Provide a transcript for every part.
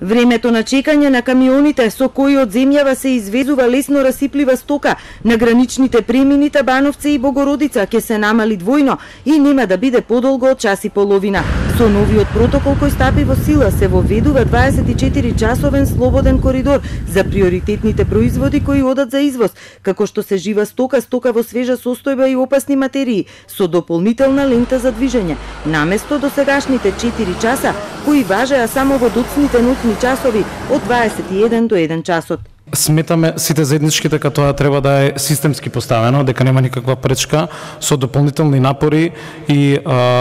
Времето на чекање на камионите со кои од земјава се извезува лесно расиплива стока на граничните премини Табановци и Богородица ќе се намали двојно и нема да биде подолго од час и половина. Со новиот протокол кој стапи во сила се воведува 24-часовен слободен коридор за приоритетните производи кои одат за извоз, како што се жива стока, стока во свежа состојба и опасни материи, со дополнителна лента за движење, наместо досегашните 4 часа кои важеа само во доцните ноќни часови од 21 до 1 часот. Сметаме сите заеднички дека тоа треба да е системски поставено, дека нема никаква пречка со дополнителни напори и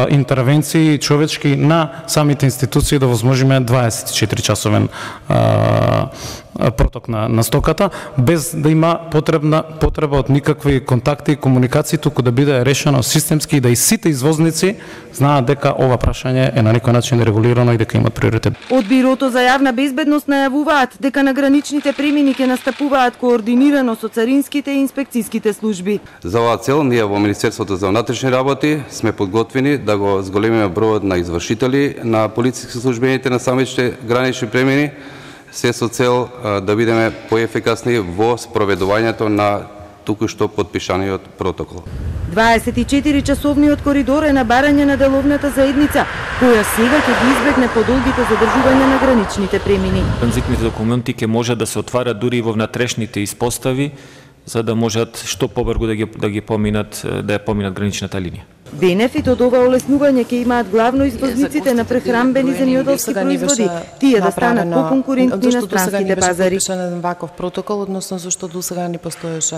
интервенции човечки на самите институции да возможиме 24 часовен проток на стоката, без да има потреба од никакви контакти и комуникации, туку да биде решено системски и да и сите извозници знаат дека ова прашање е на некој начин регулирано и дека имат приоритет. Од Бирото за јавна безбедност најавуваат дека на граничните премини ќе настапуваат координирано со царинските и инспекцијските служби. За оваа цел ние во Министерството за внатрешни работи сме подготвени да го зголемиме бројот на извршители на полициски службените на самите гранични премини, се со цел да бидеме поефикасни во спроведувањето на току-што подпишаниот протокол. 24-часовниот коридор е на барање на деловната заедница, која сега ќе ги избегне подолгите задржувања на граничните премини. Транзитните документи ќе можат да се отварат дури и во внатрешните испостави, за да можат што побрзо да ја поминат граничната линија. Бенефит од ова олеснување ќе имаат главно извозниците на прехранбени земјоделски производи, тие да станат поконкурентни на странските пазари. Зашто досега не ваков протокол, односно зашто досега не постоеше